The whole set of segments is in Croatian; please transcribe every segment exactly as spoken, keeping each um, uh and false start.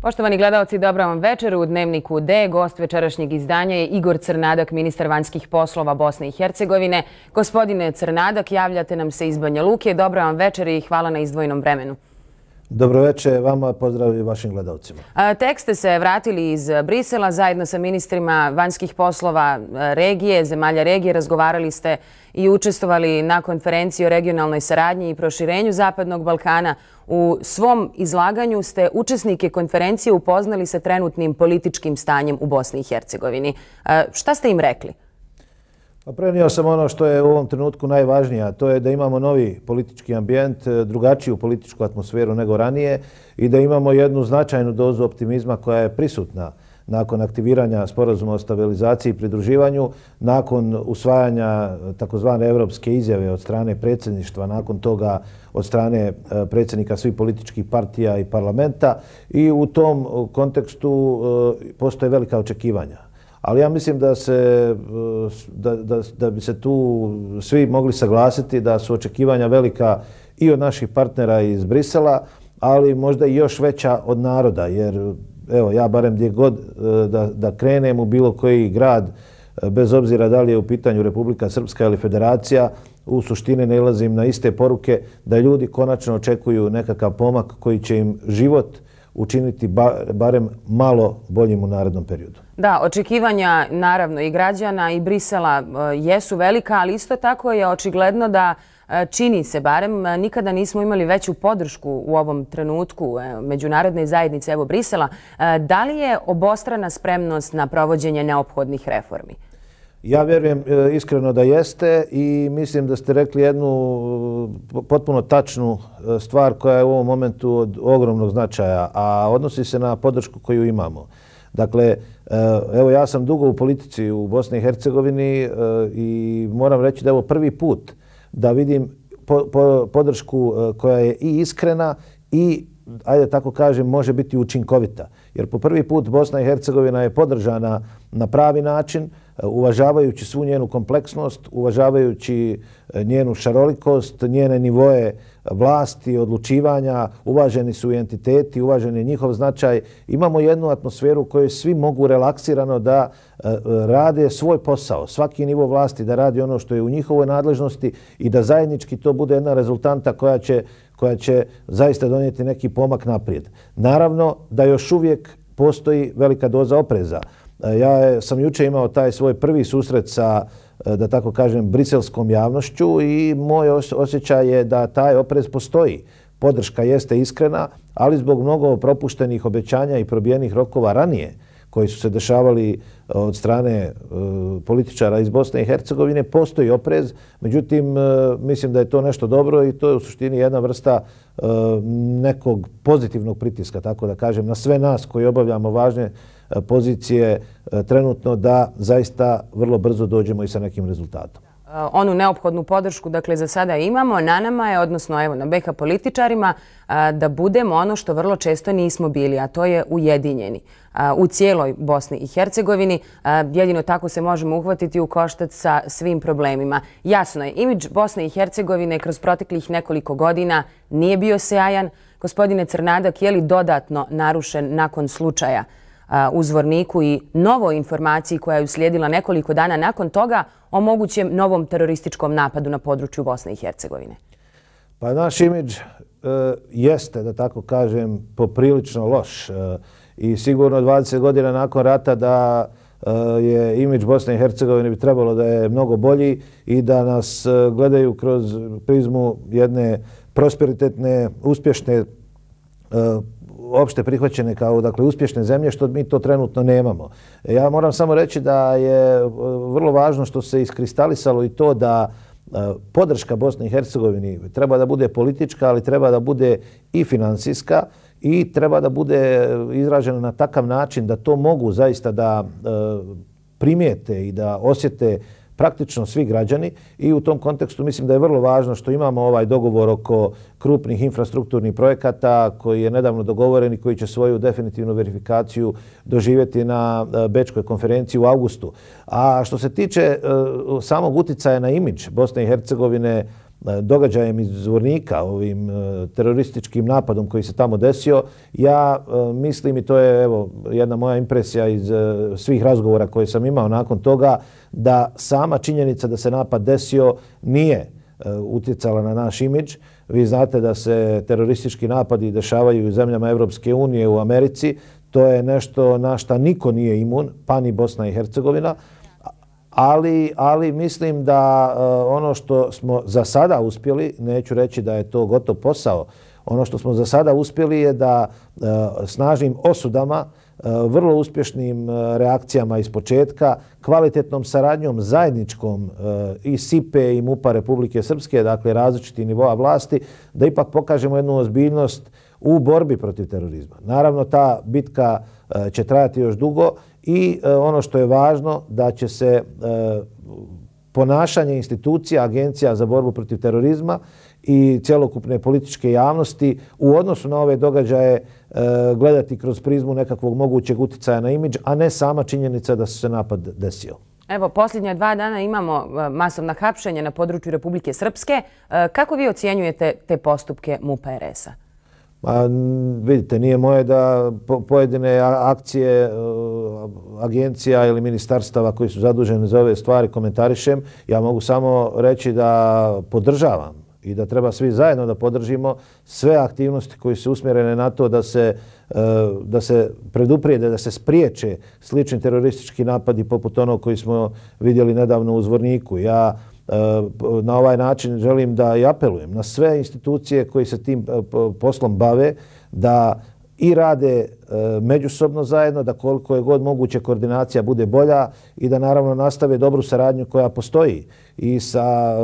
Poštovani gledalci, dobra vam večer. U Dnevniku D gost večerašnjeg izdanja je Igor Crnadak, ministar vanjskih poslova Bosne i Hercegovine. Gospodine Crnadak, javljate nam se iz Banja Luke. Dobra vam večer i hvala na izdvojenom vremenu. Dobro večer vama, pozdrav i vašim gledalcima. Tek ste se vratili iz Brisela zajedno sa ministrima vanjskih poslova regije, zemalja regije. Razgovarali ste i učestvovali na konferenciji o regionalnoj saradnji i proširenju Zapadnog Balkana. U svom izlaganju ste učesnike konferencije upoznali sa trenutnim političkim stanjem u Bosni i Hercegovini. Šta ste im rekli? Pa prenio sam ono što je u ovom trenutku najvažnije, a to je da imamo novi politički ambijent, drugačiju političku atmosferu nego ranije i da imamo jednu značajnu dozu optimizma koja je prisutna nakon aktiviranja sporazuma o stabilizaciji i pridruživanju, nakon usvajanja takozvane evropske izjave od strane predsjedništva, nakon toga od strane predsjednika svih političkih partija i parlamenta, i u tom kontekstu postoje velika očekivanja. Ali ja mislim da, se, da, da, da bi se tu svi mogli saglasiti da su očekivanja velika i od naših partnera iz Brisela, ali možda i još veća od naroda. Jer evo, ja barem gdje god da, da krenem u bilo koji grad, bez obzira da li je u pitanju Republika Srpska ili Federacija, u suštini nailazim na iste poruke da ljudi konačno očekuju nekakav pomak koji će im život učiniti barem malo boljim u narednom periodu. Da, očekivanja naravno i građana i Brisela jesu velika, ali isto tako je očigledno da čini se barem nikada nismo imali veću podršku u ovom trenutku međunarodne zajednice, evo Brisela. Da li je obostrana spremnost na provođenje neophodnih reformi? Ja vjerujem iskreno da jeste i mislim da ste rekli jednu potpuno tačnu stvar koja je u ovom momentu od ogromnog značaja, a odnosi se na podršku koju imamo. Dakle, evo ja sam dugo u politici u Bosni i Hercegovini i moram reći da je ovo prvi put da vidim podršku koja je i iskrena i, ajde tako kažem, može biti učinkovita. Jer po prvi put Bosna i Hercegovina je podržana na pravi način, uvažavajući svu njenu kompleksnost, uvažavajući njenu šarolikost, njene nivoe vlasti, odlučivanja, uvaženi su i entiteti, uvažen je njihov značaj. Imamo jednu atmosferu u kojoj svi mogu relaksirano da rade svoj posao, svaki nivo vlasti da radi ono što je u njihovoj nadležnosti i da zajednički to bude jedna rezultanta koja će, koja će zaista donijeti neki pomak naprijed. Naravno da još uvijek postoji velika doza opreza. Ja sam juče imao taj svoj prvi susret sa, da tako kažem, briselskom javnošću i moj osjećaj je da taj oprez postoji. Podrška jeste iskrena, ali zbog mnogo propuštenih obećanja i probijenih rokova ranije koji su se dešavali od strane političara iz Bosne i Hercegovine, postoji oprez. Međutim, mislim da je to nešto dobro i to je u suštini jedna vrsta nekog pozitivnog pritiska, tako da kažem, na sve nas koji obavljamo važne pozicije trenutno da zaista vrlo brzo dođemo i sa nekim rezultatom. Onu neophodnu podršku, dakle, za sada imamo. Na nama je, odnosno evo, na B H političarima, da budemo ono što vrlo često nismo bili, a to je ujedinjeni u cijeloj Bosni i Hercegovini. Jedino tako se možemo uhvatiti u koštac sa svim problemima. Jasno je, imidž Bosne i Hercegovine kroz proteklih nekoliko godina nije bio sjajan. Gospodine Crnadak, je li dodatno narušen nakon slučaja u Zvorniku i novoj informaciji koja je uslijedila nekoliko dana nakon toga o mogućem novom terorističkom napadu na području Bosne i Hercegovine? Pa naš imidž e, jeste, da tako kažem, poprilično loš. E, I sigurno dvadeset godina nakon rata da e, je imidž Bosne i Hercegovine bi trebalo da je mnogo bolji i da nas e, gledaju kroz prizmu jedne prosperitetne, uspješne e, opšte prihvaćene kao, dakle, uspješne zemlje, što mi to trenutno nemamo. Ja moram samo reći da je vrlo važno što se iskristalisalo i to da podrška Bosne i Hercegovini treba da bude politička, ali treba da bude i finansijska i treba da bude izražena na takav način da to mogu zaista da primijete i da osjete praktično svi građani i u tom kontekstu mislim da je vrlo važno što imamo ovaj dogovor oko krupnih infrastrukturnih projekata koji je nedavno dogovoren i koji će svoju definitivnu verifikaciju doživjeti na Bečkoj konferenciji u avgustu. A što se tiče samog uticaja na imidž Bosne i Hercegovine događajem iz Zvornika, ovim terorističkim napadom koji se tamo desio, ja mislim, i to je evo jedna moja impresija iz svih razgovora koje sam imao nakon toga, da sama činjenica da se napad desio nije utjecala na naš imidž. Vi znate da se teroristički napadi dešavaju u zemljama Evropske unije, u Americi. To je nešto na šta niko nije imun, pa ni Bosna i Hercegovina. Ali, ali mislim da ono što smo za sada uspjeli, neću reći da je to gotov posao, ono što smo za sada uspjeli je da snažnim osudama, vrlo uspješnim reakcijama iz početka, kvalitetnom saradnjom zajedničkom i S I P E i MUP-a Republike Srpske, dakle različitih nivoa vlasti, da ipak pokažemo jednu ozbiljnost u borbi protiv terorizma. Naravno, ta bitka će trajati još dugo i ono što je važno, da će se ponašanje institucija, agencija za borbu protiv terorizma i cjelokupne političke javnosti u odnosu na ove događaje gledati kroz prizmu nekakvog mogućeg utjecaja na imidž, a ne sama činjenica da se napad desio. Evo, posljednja dva dana imamo masovna hapšenja na području Republike Srpske. Kako vi ocjenjujete te postupke MUP-a R S-a? Pa, vidite, nije moje da pojedine akcije agencija ili ministarstava koji su zaduženi za ove stvari komentarišem. Ja mogu samo reći da podržavam i da treba svi zajedno da podržimo sve aktivnosti koje su usmjerene na to da se, da se preduprijede, da se spriječe slični teroristički napadi poput onog koji smo vidjeli nedavno u Zvorniku. Ja na ovaj način želim da i apelujem na sve institucije koji se tim poslom bave, da i rade međusobno zajedno, da koliko je god moguće koordinacija bude bolja i da naravno nastave dobru saradnju koja postoji i sa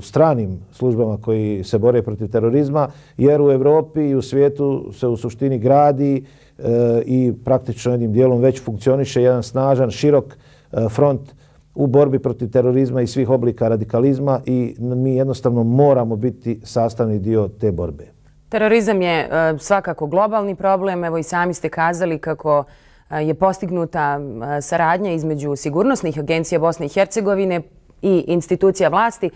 stranim službama koji se bore protiv terorizma, jer u Evropi i u svijetu se u suštini gradi i praktično jednim dijelom već funkcioniše jedan snažan, širok front u borbi protiv terorizma i svih oblika radikalizma i mi jednostavno moramo biti sastavni dio te borbe. Terorizam je svakako globalni problem. Evo i sami ste kazali kako je postignuta saradnja između sigurnosnih agencija Bosne i Hercegovine i institucija vlasti.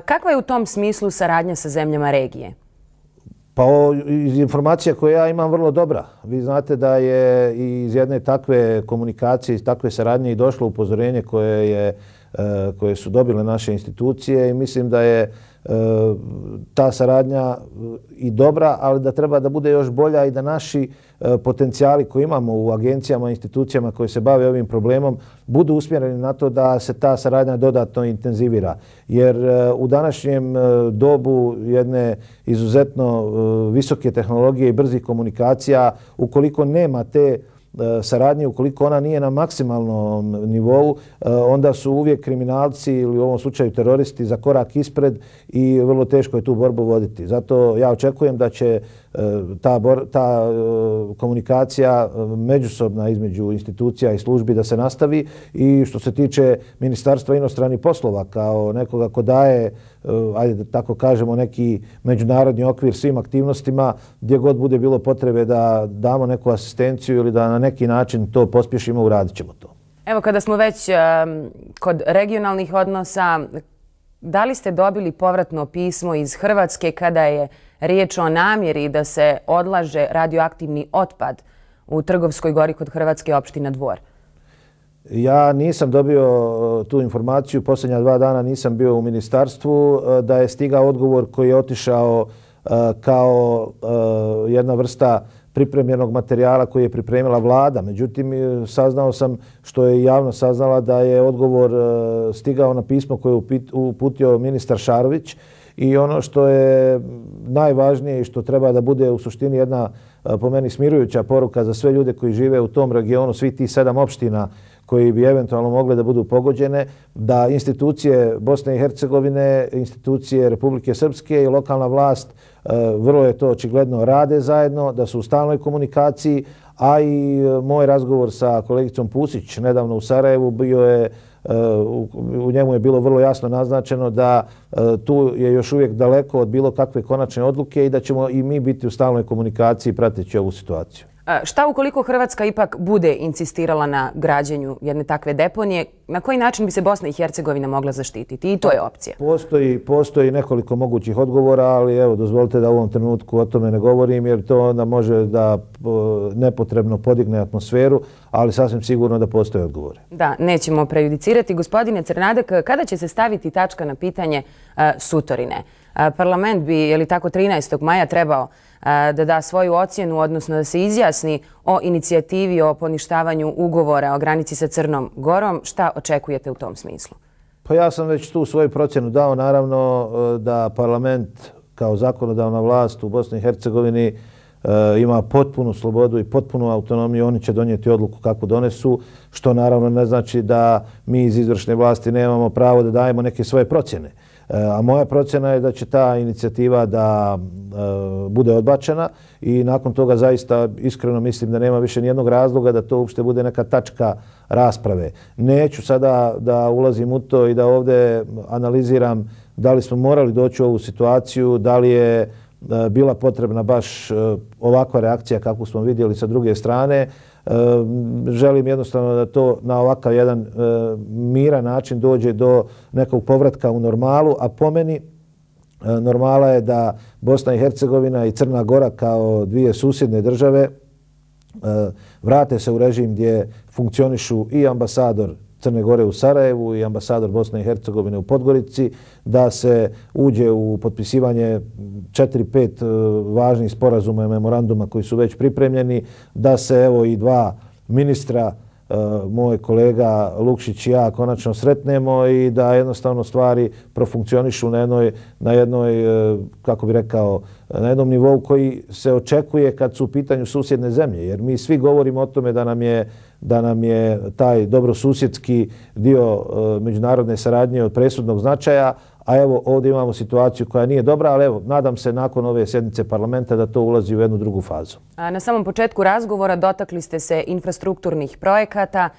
Kakva je u tom smislu saradnja sa zemljama regije? Pa iz informacija koje ja imam vrlo dobra. Vi znate da je iz jedne takve komunikacije, iz takve saradnje i došlo upozorenje koje, je, koje su dobile naše institucije i mislim da je ta saradnja i dobra, ali da treba da bude još bolja i da naši potencijali koje imamo u agencijama i institucijama koje se bave ovim problemom budu usmjereni na to da se ta saradnja dodatno intenzivira. Jer u današnjem dobu jedne izuzetno visoke tehnologije i brzih komunikacija, ukoliko nema te saradnje, ukoliko ona nije na maksimalnom nivou, onda su uvijek kriminalci ili u ovom slučaju teroristi za korak ispred i vrlo teško je tu borbu voditi. Zato ja očekujem da će ta, bor, ta komunikacija međusobna između institucija i službi da se nastavi i što se tiče Ministarstva inostranih poslova kao nekoga ko daje, ajde da tako kažemo, neki međunarodni okvir svim aktivnostima, gdje god bude bilo potrebe da damo neku asistenciju ili da na neki način to pospješimo, uradit ćemo to. Evo, kada smo već kod regionalnih odnosa, da li ste dobili povratno pismo iz Hrvatske kada je riječ o namjeri da se odlaže radioaktivni otpad u Trgovskoj gori kod Hrvatske, opština Dvor? Ja nisam dobio tu informaciju, posljednja dva dana nisam bio u ministarstvu, da je stigao odgovor koji je otišao kao jedna vrsta pripremljenog materijala koji je pripremila vlada. Međutim, saznao sam, što je javno saznala, da je odgovor stigao na pismo koje je uputio ministar Šarović i ono što je najvažnije i što treba da bude u suštini jedna po meni smirujuća poruka za sve ljude koji žive u tom regionu, svi ti sedam opština koji bi eventualno mogle da budu pogođene, da institucije Bosne i Hercegovine, institucije Republike Srpske i lokalna vlast, vrlo je to očigledno, rade zajedno, da su u stalnoj komunikaciji, a i moj razgovor sa kolegicom Pusić nedavno u Sarajevu bio je, u njemu je bilo vrlo jasno naznačeno da tu je još uvijek daleko od bilo kakve konačne odluke i da ćemo i mi biti u stalnoj komunikaciji prateći ovu situaciju. Šta ukoliko Hrvatska ipak bude insistirala na građenju jedne takve deponije? Na koji način bi se Bosna i Hercegovina mogla zaštititi? I to je opcija. Postoji, postoji nekoliko mogućih odgovora, ali evo, dozvolite da u ovom trenutku o tome ne govorim, jer to onda može da nepotrebno podigne atmosferu, ali sasvim sigurno da postoje odgovore. Da, nećemo prejudicirati. Gospodine Crnadak, kada će se staviti tačka na pitanje uh, Sutorine? Uh, parlament bi, je li tako, trinaestog maja trebao uh, da da svoju ocjenu, odnosno da se izjasni o inicijativi o poništavanju ugovora o granici sa Crnom Gorom. Šta očekujete u tom smislu? Pa ja sam već tu svoju procjenu dao. Naravno da parlament kao zakonodavna vlast u Bosni i Hercegovini ima potpunu slobodu i potpunu autonomiju. Oni će donijeti odluku kako donesu, što naravno ne znači da mi iz izvršne vlasti nemamo pravo da dajemo neke svoje procjene. A moja procjena je da će ta inicijativa da e, bude odbačena i nakon toga zaista iskreno mislim da nema više nijednog razloga da to uopšte bude neka tačka rasprave. Neću sada da ulazim u to i da ovdje analiziram da li smo morali doći u ovu situaciju, da li je e, bila potrebna baš e, ovakva reakcija kakvu smo vidjeli sa druge strane. Želim jednostavno da to na ovakav jedan miran način dođe do nekog povratka u normalu, a po meni normala je da Bosna i Hercegovina i Crna Gora kao dvije susjedne države vrate se u režim gdje funkcionišu i ambasador Crne Gore u Sarajevu i ambasador Bosne i Hercegovine u Podgorici, da se uđe u potpisivanje četiri, pet važnih sporazuma i memoranduma koji su već pripremljeni, da se evo i dva ministra, moj kolega Lukšić i ja, konačno sretnemo i da jednostavno stvari profunkcionišu na jednoj, na jednoj, kako bi rekao, na jednom nivou koji se očekuje kad su u pitanju susjedne zemlje. Jer mi svi govorimo o tome da nam je da nam je taj dobrosusjedski dio međunarodne saradnje od presudnog značaja, a evo ovdje imamo situaciju koja nije dobra, ali evo nadam se nakon ove sjednice parlamenta da to ulazi u jednu drugu fazu. Na samom početku razgovora dotakli ste se infrastrukturnih projekata.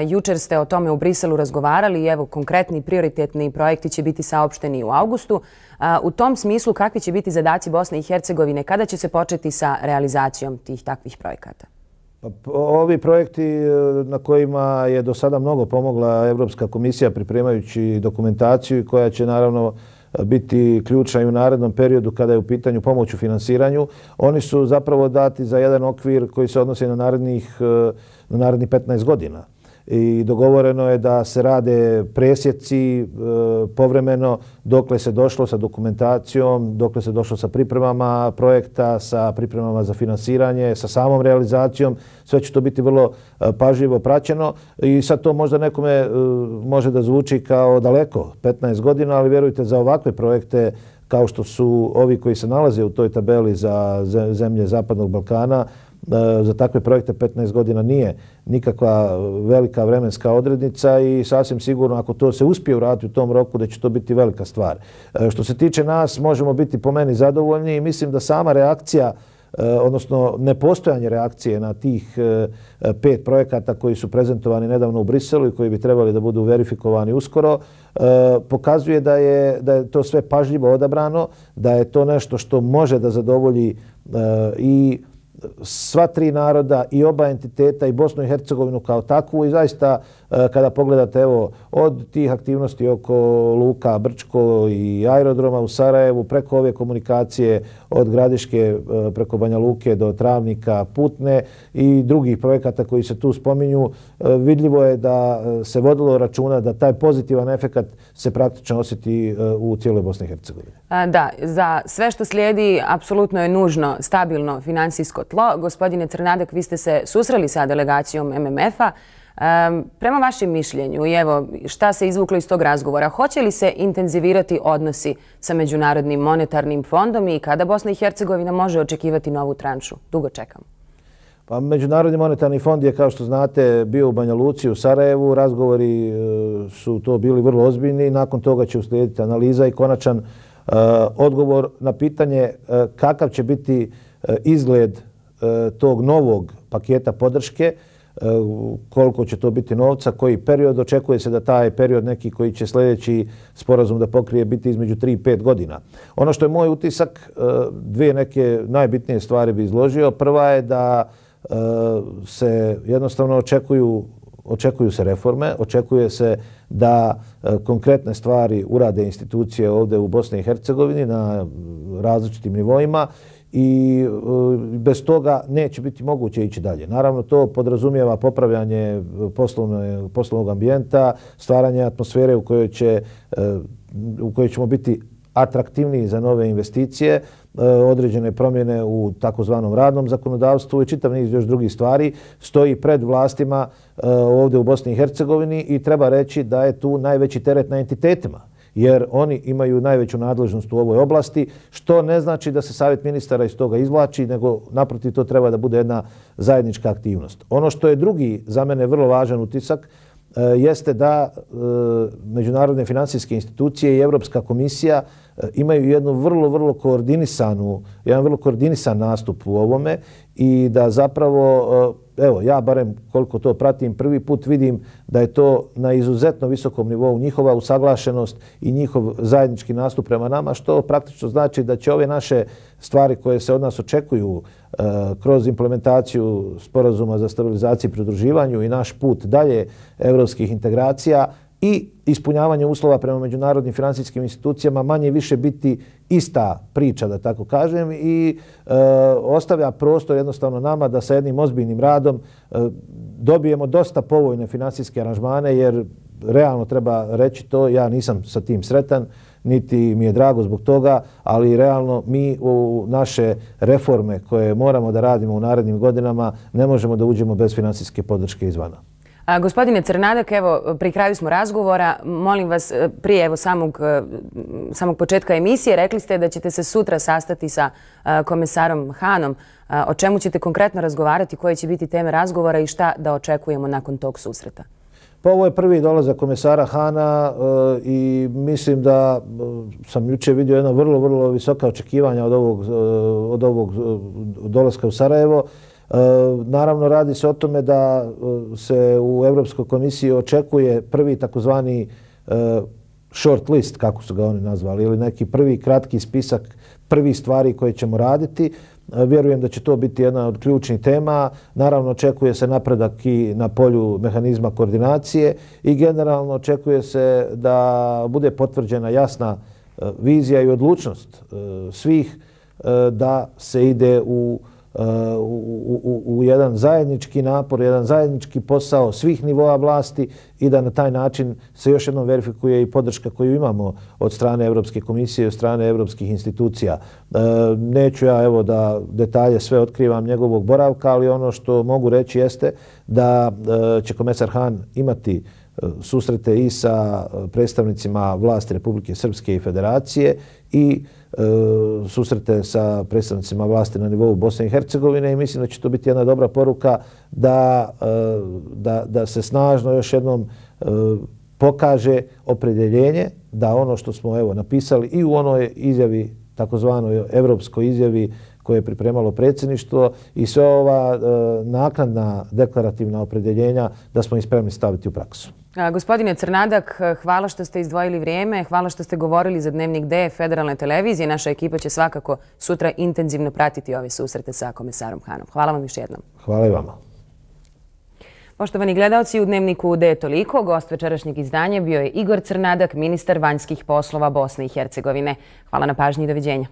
Jučer ste o tome u Briselu razgovarali i evo konkretni prioritetni projekti će biti saopšteni u avgustu. U tom smislu kakvi će biti zadaci Bosne i Hercegovine? Kada će se početi sa realizacijom tih takvih projekata? Ovi projekti na kojima je do sada mnogo pomogla Evropska komisija pripremajući dokumentaciju koja će naravno biti ključna i u narednom periodu kada je u pitanju pomoć u finansiranju, oni su zapravo dati za jedan okvir koji se odnosi na narednih, na narednih petnaest godina. I dogovoreno je da se rade presjeci e, povremeno dokle se došlo sa dokumentacijom, dokle se došlo sa pripremama projekta, sa pripremama za finansiranje, sa samom realizacijom. Sve će to biti vrlo e, pažljivo praćeno i sad to možda nekome e, može da zvuči kao daleko, petnaest godina, ali vjerujte za ovakve projekte kao što su ovi koji se nalaze u toj tabeli za zemlje Zapadnog Balkana, za takve projekte petnaest godina nije nikakva velika vremenska odrednica i sasvim sigurno ako to se uspije uraditi u tom roku da će to biti velika stvar. Što se tiče nas, možemo biti po meni zadovoljni i mislim da sama reakcija, odnosno nepostojanje reakcije na tih pet projekata koji su prezentovani nedavno u Briselu i koji bi trebali da budu verifikovani uskoro, pokazuje da je, da je to sve pažljivo odabrano, da je to nešto što može da zadovolji i sva tri naroda i oba entiteta i Bosnu i Hercegovinu kao takvu i zaista kada pogledate evo od tih aktivnosti oko Luka Brčko i aerodroma u Sarajevu preko ove komunikacije od Gradiške preko Banja Luke do Travnika, Putne i drugih projekata koji se tu spominju, vidljivo je da se vodilo računa da taj pozitivan efekat se praktično osjeti u cijeloj Bosni i Hercegovini. Da, za sve što slijedi apsolutno je nužno stabilno finansijsko tlo. Gospodine Crnadak, vi ste se susreli sa delegacijom M M F-a. Prema vašem mišljenju i evo šta se izvuklo iz tog razgovora, hoće li se intenzivirati odnosi sa Međunarodnim monetarnim fondom i kada Bosna i Hercegovina može očekivati novu tranšu? Dugo čekamo. Pa Međunarodni monetarni fond je, kao što znate, bio u Banja Luci, u Sarajevu. Razgovori su to bili vrlo ozbiljni. Nakon toga će uslijediti analiza i konačan uh, odgovor na pitanje uh, kakav će biti uh, izgled uh, tog novog paketa podrške, koliko će to biti novca, koji period. Očekuje se da taj period neki koji će sljedeći sporazum da pokrije biti između tri i pet godina. Ono što je moj utisak, dvije neke najbitnije stvari bi izložio. Prva je da se jednostavno očekuju Očekuju se reforme, očekuje se da konkretne stvari urade institucije ovdje u Bosni i Hercegovini na različitim nivoima i bez toga neće biti moguće ići dalje. Naravno, to podrazumijeva popravljanje poslovnog ambijenta, stvaranje atmosfere u kojoj će, u kojoj ćemo biti atraktivniji za nove investicije, određene promjene u takozvanom radnom zakonodavstvu i čitav niz još drugih stvari stoji pred vlastima ovdje u Bosni i Hercegovini i treba reći da je tu najveći teret na entitetima, jer oni imaju najveću nadležnost u ovoj oblasti, što ne znači da se Savjet ministara iz toga izvlači, nego naprotiv to treba da bude jedna zajednička aktivnost. Ono što je drugi za mene vrlo važan utisak jeste da međunarodne financijske institucije i Europska komisija imaju jednu vrlo, vrlo koordinisanu, jedan vrlo koordinisan nastup u ovome i da zapravo, evo, ja barem koliko to pratim, prvi put vidim da je to na izuzetno visokom nivou njihova usaglašenost i njihov zajednički nastup prema nama, što praktično znači da će ove naše stvari koje se od nas očekuju kroz implementaciju sporazuma za stabilizaciju i pridruživanju i naš put dalje evropskih integracija i ispunjavanje uslova prema međunarodnim financijskim institucijama manje više biti ista priča, da tako kažem, i e, ostavlja prostor jednostavno nama da sa jednim ozbiljnim radom e, dobijemo dosta povoljne financijske aranžmane, jer realno treba reći to, ja nisam sa tim sretan, niti mi je drago zbog toga, ali realno mi u naše reforme koje moramo da radimo u narednim godinama ne možemo da uđemo bez financijske podrške izvana. A, gospodine Crnadak, evo, pri kraju smo razgovora. Molim vas, prije evo, samog, samog početka emisije, rekli ste da ćete se sutra sastati sa a, komesarom Hanom. A, o čemu ćete konkretno razgovarati, koje će biti teme razgovora i šta da očekujemo nakon tog susreta? Pa ovo je prvi dolazak komesara Hana e, i mislim da e, sam jučer vidio jedna vrlo, vrlo visoka očekivanja od ovog, e, od ovog dolaska u Sarajevo. E, naravno, radi se o tome da se u Europskoj komisiji očekuje prvi takozvani e, short list, kako su ga oni nazvali, ili neki prvi kratki spisak prvih stvari koje ćemo raditi. Vjerujem da će to biti jedna od ključnih tema. Naravno, očekuje se napredak i na polju mehanizma koordinacije i generalno očekuje se da bude potvrđena jasna vizija i odlučnost svih da se ide u U, u, u jedan zajednički napor, jedan zajednički posao svih nivoa vlasti i da na taj način se još jednom verifikuje i podrška koju imamo od strane Europske komisije i od strane europskih institucija. E, neću ja evo da detalje sve otkrivam njegovog boravka, ali ono što mogu reći jeste da e, će komesar Han imati susrete i sa predstavnicima vlasti Republike Srpske i Federacije i e, susrete sa predstavnicima vlasti na nivou Bosne i Hercegovine i mislim da će to biti jedna dobra poruka da, e, da, da se snažno još jednom e, pokaže opredjeljenje da ono što smo evo napisali i u onoj izjavi, takozvanoj evropskoj izjavi koje je pripremalo predsjedništvo i sve ova e, naknadna deklarativna opredjeljenja da smo ih spremni staviti u praksu. A, gospodine Crnadak, hvala što ste izdvojili vrijeme, hvala što ste govorili za Dnevnik D Federalne televizije. Naša ekipa će svakako sutra intenzivno pratiti ove susrete sa komesarom Hanom. Hvala vam još jednom. Hvala i vama. Poštovani gledalci, u Dnevniku D je toliko. Gost večerašnjeg izdanja bio je Igor Crnadak, ministar vanjskih poslova Bosne i Hercegovine. Hvala na pažnji i doviđenja.